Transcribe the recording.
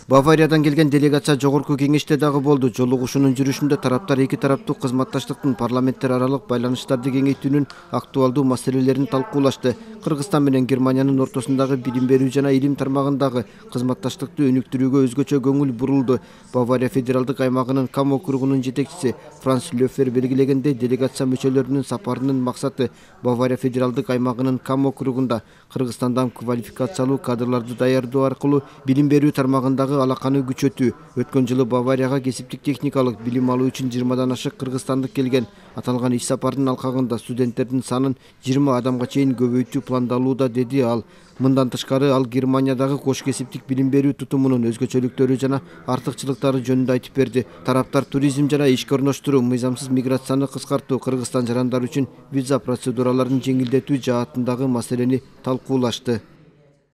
Бавариядан келген делегация жогорку кеңеште дагы болду. Жолугушуунун жүрүшүндө тараптар эки тараптуу кызматташтыктын парламенттер аралык байланыштарды кеңейтүүнүн актуалдуу маселелерин талкуулашты. Кыргызстан менен Германиянын ортосундагы билим берүү жана илим тармагындагы кызматташтыкты өнүктүрүүгө өзгөчө көңүл бурулду. Бавария федералдык аймагынын Кам округунун жетекчиси Франц Лёфер белгилегендей, делегация мүчөлөрүнүн сапарынын максаты Бавария федералдык аймагынын Кам округунда Кыргызстандан квалификациялуу кадрларды даярдоо аркылуу билим берүү тармагындагы алаканы күчөтүү. Өткөн жылы Баварияга кесиптик техникалык билим алуу үчүн 20 ашык кыргызстандык келген. Аталган иш сапардын алкагында студенттердин санын 20 адамга чейин көбөйтүү пландалууда, деди ал. Мындан тышкары ал Германиядагы кош кесиптик билим берүү тутумунун өзгөчөлүктөрү жана артыкчылыктары жөнүндө айтып берди. Тараптар туризм жана ишке орноштуруу, мыйзамсыз миграцияны кыскартуу, Кыргызстан жарандары үчүн виза процедураларын жеңилдетүү жаатындагы маселени талкуулашты.